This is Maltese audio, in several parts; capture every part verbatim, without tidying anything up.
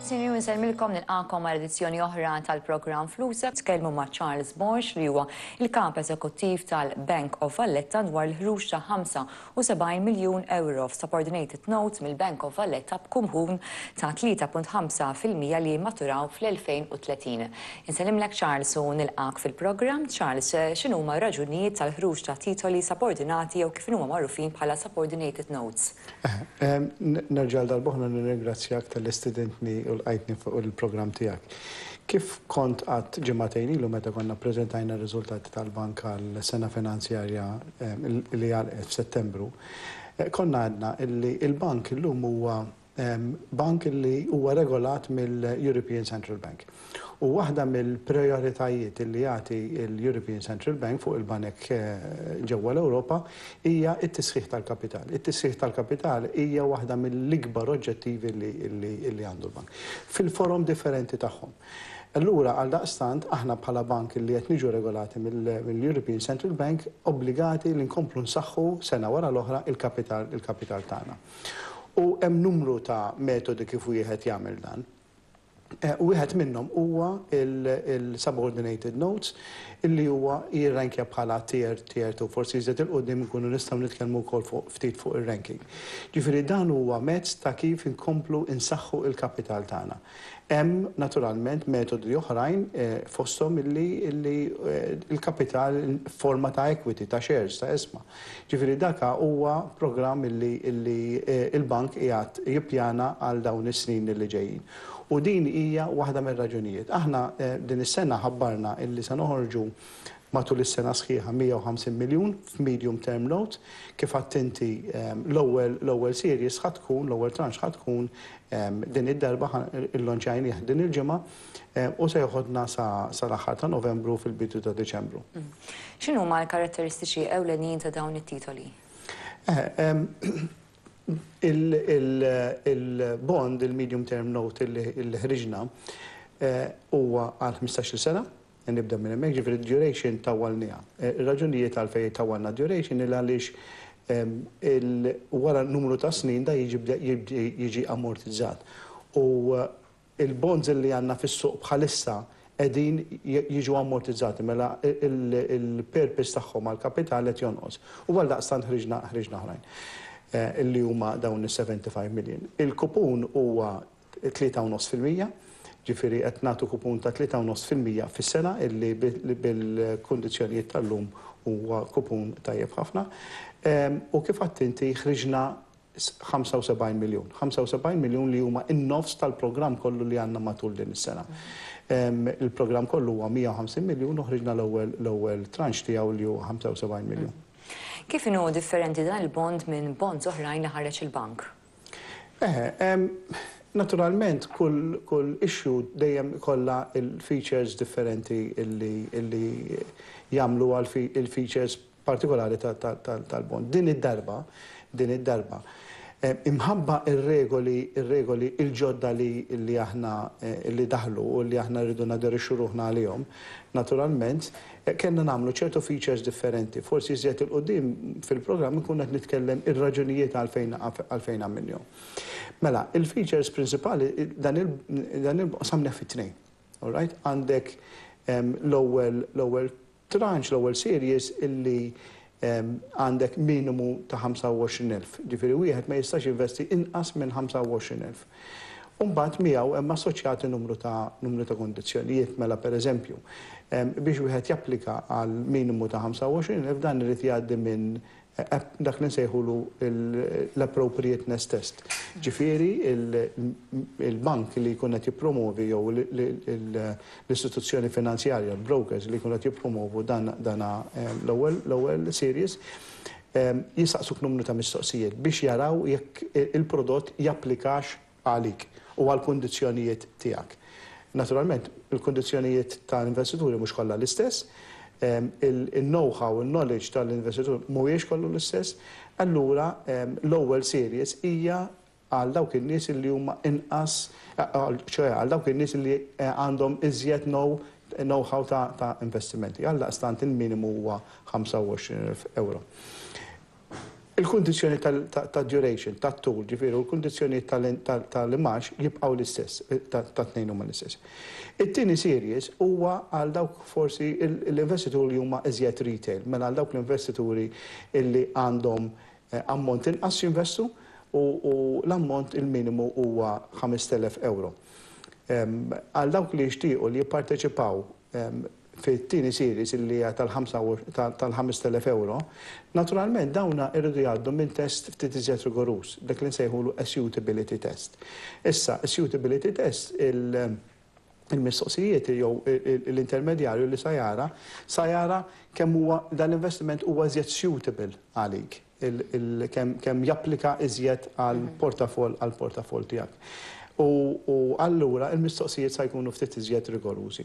Sinjuri, nsellmilkom, nilqagħkom għal edizzjoni oħra tal-programm Flusek. Tkellmu ma' Charles Borg, li huwa il-kap eżekuttiv tal-Bank of Valletta, dwar l-ħruġ ta' ħamsa u sebgħin miljun euro f'subordinated notes mill-Bank of Valletta b'kupun ta' tlieta punt ħamsa fil-mija li maturaw fl-elfejn u tletin. Insellimlek, Charles, u nilqak fil-programm. Charles, x'inhuma raġunijiet tal-ħruġ ta' titoli subordinati jew kif huma magħrufin bħala subordinated notes? Nerġa' darb'oħra nirringrazzjak talli stedintni u lqajtni fuq il-programm tiegħek. Kif kont għedt ġimagħtejn ilu meta konna prezentajna r-riżultati tal-bank għal sena finanzjarja li għalqet f'Settembru, eh, konna għedna illi il-bank illum huwa bank li huwa regolat mill-European Central Bank. U waħda mill-prioritajiet li jagħti l-European Central Bank fuq il-banek eh, ġewwa l-Ewropa hija t-tisħiħ tal-kapital. It-tisħiħ tal-kapital hija waħda mill-ikbar oġġettivi li għandu l-bank fil-forom differenti tagħhom. Allura, għal daqstant, aħna bħala bank li qed niġu regolati mill-European Central Bank obbligati li nkomplu nsaħħu sena wara l-oħra il-kapital il-kapital tagħna. U hemm numru ta' metodi kif wieħed jagħmel dan. Eh, wieħed minnhom huwa il-subordinated notes, illi huwa jirrankja bħala tier tier two. Forsi iżjed 'il quddiem nkunu nistgħu nitkellmu wkoll fuq ftit fuq ir-ranking. Ġifieri dan huwa mezz ta' kif inkomplu insaħħu il-kapital tagħna. Hemm naturalment metodi oħrajn, eh, fosthom illi illi eh, il-kapital forma ta' equity, ta' shares, ta' ishma. Ġifieri daka huwa programm illi illi il-bank qiegħed jippjana għal dawn is-snin li ġejjin. U din hija waħda mir-raġunijiet. Aħna eh, din is-sena ħabbarna illi se noħorġu matul is-sena sħiħa mija u ħamsin miljun f'medium term note. Kif għedt inti, l-ewwel l-ewwel series ħa tkun, l-ewwel tranche ħa tkun din id-darba, illonċajnieh din il-ġimgħa u se joħodna sa l-aħħar ta' Novembru, fil-bidu ta' Deċembru. Mm. X'inhuma l-karatteristiċi ewlenin ta' dawn it-titoli? Eh, Il-bond, il-medium term note li ħriġna, eh, huwa għal ħmistax-il sena, nibda minn hemmhekk, ġifieri duration tawwalniha. Eh, ir-raġunijiet għalfejn tawwalna duration il għaliex wara numru ta' snin da jiġi ammortizzat. U eh, il-bonds li għandna fis-suq bħalissa qegħdin jiġu ammortizzati, mela il-purpose tagħhom għal kapital qed jonqos. U għal daqstant ħriġna ħriġna oħrajn eh, illi huma dawn is-sebgħa u ħamsin million. Il-kupun huwa tlieta u nofs fil-mija, ġifieri qed nagħtu kupun ta' tlieta u nofs fil-mija fis-sena, illi bil-kundizzjonijiet tal-lum huwa kupun tajjeb ħafna. U kif għedt inti, ħriġna ħamsa u sebgħin miljun. ħamsa u sebgħin miljun li huma in-nofs tal-programm kollu li għandna matul din is-sena. Il-programm kollu huwa mija u ħamsin miljun u ħriġna l-ewwel l-ewwel tranche tiegħu li huwa ħamsa u sebgħin miljun. Kif inhu differenti dan il-bond minn bonds oħrajn li ħareġ il-bank? Eh, naturalment kull, kull issue dejjem kollha il-features differenti illi, illi jagħmlu għal il-features partikolari tal-bond. Din id-darba, din id-darba, eh, imħabba ir-regoli, ir-regoli il-ġodda li, li aħna eh, li daħlu u li aħna rridu naderixxu ruħna għalihom, naturalment, eh, kellna nagħmlu ċertu features differenti. Forsi iżjed 'il quddiem fil-programm nkun qed nitkellem ir-raġunijiet għalfejn għalfejn għamilniehom. Mela, il-features principali, dan il-qsamna fit-tnejn. All right? Għandek l-ewwel l-ewwel tranche, l-ewwel series, illi għandek minimu ta' ħamsa u għoxrin elf. Ġifieri wieħed ma jistax investi inqas minn ħamsa u għoxrin elf. Umbagħad miegħu hemm assoċjati numru ta' numru ta' kondizzjonijiet. Mela, pereżempju, biex wieħed japplika għal minimu ta' ħamsa u għoxrin elf, dan irid jgħaddi minn eh, dak li nsejħulu l-appropriateness test. Ġifieri il-bank li jkun qed jippromovi jew l-istituzzjoni finanzjarja, l-brokers li jkun qed jippromovu dan l-ewwel l-ewwel series, jisaqsuk numru ta' mistoqsijiet biex jaraw jekk il-prodott japplikax għalik u għal kundizzjonijiet tiegħek. Naturalment, il-kundizzjonijiet tal-investituri mhux kollha l-istess, il-know-how, il-knowledge tal-investitur mhuwiex kollu l-istess, allura l-ewwel series hija għal dawk in-nies li huma inqas, ċoè għal dawk in-nies li eh, għandhom iżjed know-how ta', ta investimenti. Għal daqstant il-minimu huwa ħamsa u għoxrin elf euro. Il-kondizjoni ta' duration, ta' tul, ġifieri, u l-kondizjoni tal-imgħax jibqgħu l-istess, ta' tnejn huma l-istess. It-tieni series huwa għal dawk forsi l-investituri li huma iżjed retail, mela għal dawk l-investituri illi għandhom eh, ammont inqas jinvestu u l-ammont il-minimu huwa ħamest elef euro. Għal dawk li jixtiequ li jipparteċipaw fit-tieni series illi hija tal-ħamest elef euro, naturalment dawna irridu jgħaddu minn test ftit iżjed rigoruż, dak li nsejħulu suitability test. Issa, suitability test, il- il-mistoqsijiet jew l-intermedjarju li sa jara, sa jara kemm huwa dan l-investiment huwa iżjed suitable għalik, kemm japplika iżjed għal mhm. portafol għal portafol tiegħek. U allura il-mistoqsijiet sa jkunu ftit iżjed rigorużi.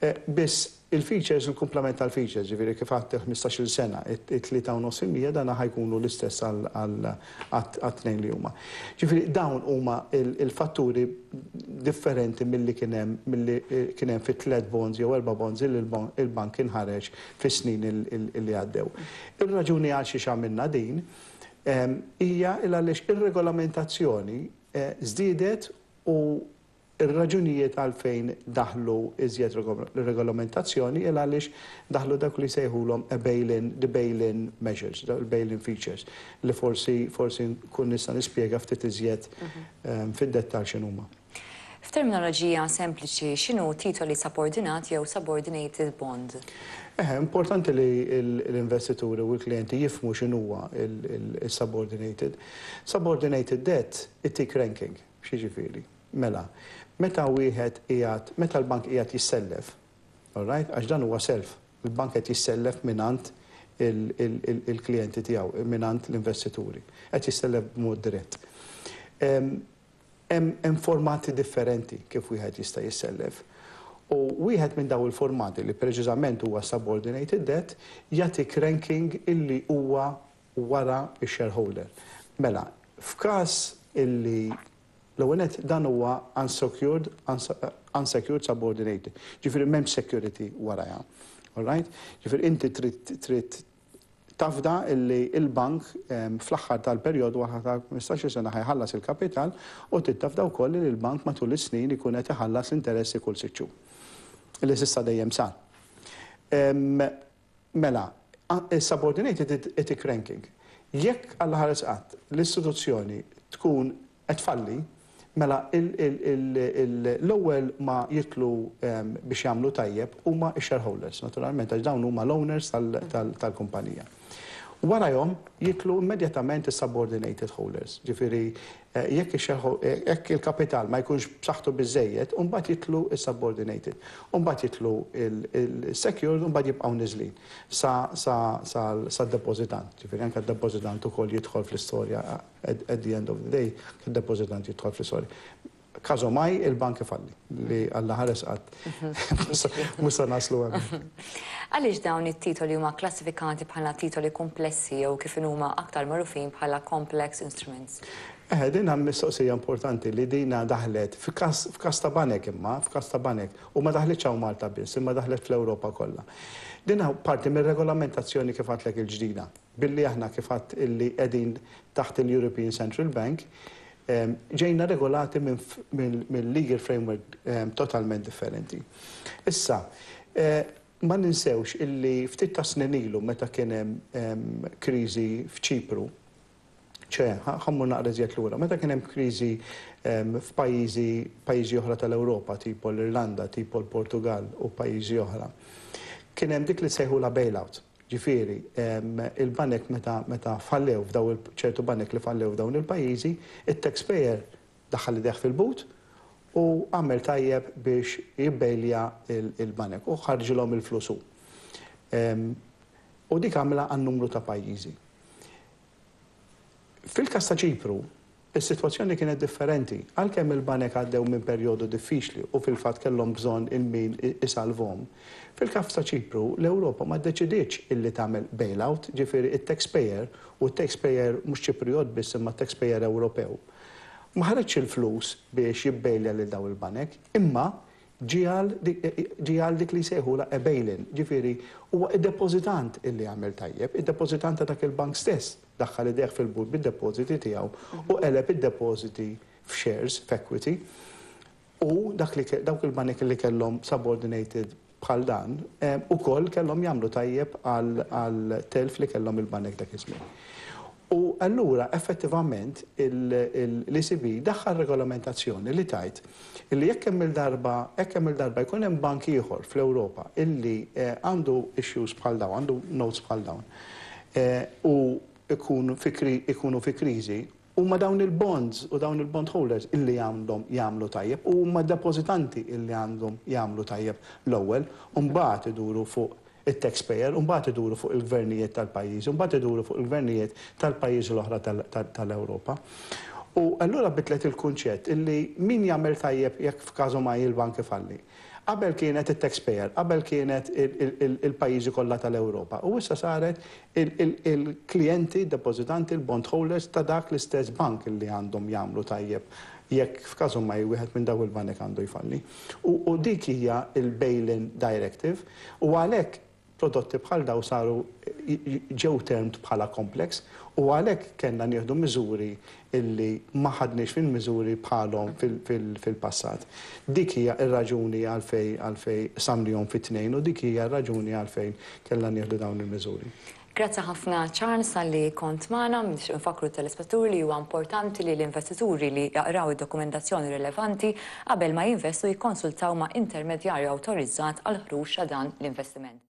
Eh, biss il-features, il-komplement tal-features, ġifieri kif għedt ħmistax-il sena, it-tlieta u nofs fil-mija dana ħa jkunu l-istess għat-tnejn li huma. Ġifieri dawn huma il-fatturi differenti milli kien hemm milli kien hemm fit tliet bonds jew erba' bonds li il-bank inħareġ fis-snin li għaddew. Ir-raġuni għal xiex għamilna din hija il għaliex ir-regolamentazzjoni eh, żdiedet u ir-raġunijiet għalfejn daħlu iżjed regolamentazzjoni il għaliex daħlu dak li sejħulhom a bail-in, the bail-in measures, the bail-in features, li forsi forsi nkun nista' nispjega ftit iżjed mhm. ehm, fid-dettal x'inhuma. F'terminoloġija sempliċi, x'inhu titoli subordinat jew subordinated bond? Eh, importanti li l-investituri u l-klienti jifhmu x'inhuwa il-subordinated. Subordinated debt ittik ranking, x'jiġifieri? Mela, meta wieħed qiegħed, meta l-bank qiegħed jissellef, all right? Għax dan huwa self, il-bank qed jissellef mingħand il-klijenti tiegħu, mingħand l-investituri. Qed jissellef b'mod dirett. Hemm formati differenti kif wieħed jista' jissellef. U wieħed minn daw il-formati, li preċiżament huwa subordinated debt, jagħtik ranking illi huwa wara ix-shareholder. Mela, f'każ illi l-ewwel dan huwa unsecured, unsecured subordinated. Ġifieri m'hemmx security warajha. All right? Ġifieri inti trid trid tafda illi il-bank fl-aħħar tal-perjodu wara ta' ħmistax-il sena ħa jħallas il-kapital u trid tafda wkoll li l-bank matul is-snin ikun qed iħallas l-interessi kull sitt xhur. Illi s'issa dejjem sar. Mela, subordinated itik ranking. Jekk Alla ħares qatt l-istituzzjoni tkun qed tfalli, mela l-ewwel ma jidħlu biex jagħmlu tajjeb huma x-shareholders, naturalment, għax dawn huma l-owners tal-kumpanija. Warajhom jidħlu immedjatament is-subordinated holders. Ġifieri eh, jekk jekk il-kapital ma jkunx b'saħħtu biżejjed, mbagħad jidħlu is-subordinated. Mbagħad jidħlu il-secured u mbagħad jibqgħu niżlin sa sa sa depożitant. Ġifieri anke d-depożitant ukoll jidħol fl-istorja. At the end of the day, id-depożitant jidħol fl-istorja. Każomaj il-bank ifalli, li Alla ħares qatt mhux sa naslu hemm. Għaliex dawn it-titoli huma klassifikati bħala titoli komplessi jew kif huma aktar magħrufin bħala complex instruments? Eh, din hemm mistoqsija importanti li dina daħlet f'każ ta' banek imma, f'każ ta' banek, u ma daħletx hawn Malta biss, imma daħlet fl-Ewropa kollha. Din parti mir-regolamentazzjoni kif għedtlek il-ġdida. Billi aħna kif għedt illi qegħdin taħt il-European Central Bank, ġejna regolati minn legal framework totalment differenti. Issa, eh, ma ninsewx illi ftit ta' snin ilu meta kien hemm kriżi f'Ċipru, ċe, ħa mmur naqra iżjed lura, meta kien hemm kriżi f'pajjiżi pajjiżi oħra tal-Ewropa, tipo l-Irlanda, tipo l-Portugal u pajjiżi oħra, kien hemm dik li sejħu la bailout. Ġifieri, il-banek meta meta fallew f'daw ċertu banek li fallew f'dawn il-pajjiżi, it-taxpayer daħal idejh fil-but u għamel tajjeb biex jibbailja il-banek u ħarġilhom il-flus hu. U dik għamla għan numru ta' pajjiżi. Fil-kas ta' Ċipru, is-sitwazzjoni kienet differenti. Għalkemm il-banek għaddew minn perjodu diffiċli u fil-fatt kellhom bżonn il-min isalvhom. Fil-kas ta' Ċipru, l-Ewropa ma ddeċidietx illi tagħmel bailout, ġifieri it-taxpayer, u t-taxpayer mhux Ċipriot biss imma taxpayer Ewropew, ma ħareġx il-flus biex jibbailja lil daw il-banek, imma ġie għal dik li sejħula a bail-in, ġifieri huwa id-depozitant illi għamel tajjeb, id-depozitant ta' dak il-bank stess. Daħħal idejh fil-but bid-depositi tiegħu u qeleb id-depositi f'shares, f'equity. U dak li dawk il-banek li kellhom subordinated bħal dan, ukoll kellhom jagħmlu tajjeb għal telf li kellhom il-banek dak iż-żmien. U allura effettivament l-E C B daħħal regolamentazzjoni li tgħid illi jekk hemm il-darba jekk hemm il-darba jkun hemm bank ieħor fl-Ewropa illi eh, għandu issues bħal dawn, għandu notes bħal dawn, eh, u ikunu fi kriżi, huma dawn il-bonds u dawn il-bond holders illi għandhom jagħmlu tajjeb u huma depozitanti illi għandhom jagħmlu tajjeb l-ewwel u mbagħad iduru fuq il-taxpayer, u mbagħad iduru fuq il-gvernijiet tal-pajjiż, u mbagħad iduru fuq il-gvernijiet tal-pajjiżi l-oħra tal-Ewropa. U allura bidlet il-kunċett illi min jagħmel tajjeb jekk f'każu ma il-bank ifalli. Qabel kienet il-taxpayer, qabel kienet il-pajjiżi kollha tal-Ewropa. U issa saret il-klijenti, depozitanti, il-bond holders ta' dak l-istess bank li għandhom jagħmlu tajjeb jekk f'każu ma wieħed minn daw il-banek għandu jfalli. U dik hija il-Bail-in Directive u għalhekk prodotti bħal daw saru, ġew termed bħala complex, u għalhekk kellna nieħdu miżuri illi ma ħadniex fil-miżuri bħalhom fil-passat. Dik hija r-raġuni għalfejn għalfejn qsamnihom fi tnejn u dik hija r-raġuni għalfejn kellna nieħdu dawn il-miżuri. Grazzi ħafna, Charles, talli kont magħna. Nfakru telespettaturi li huwa importanti li l-investituri li jaqraw id-dokumentazzjoni rilevanti qabel ma jinvestu, jikkonsultaw ma' intermedjarju awtorizzat għal ħruġ ta' dan l-investiment.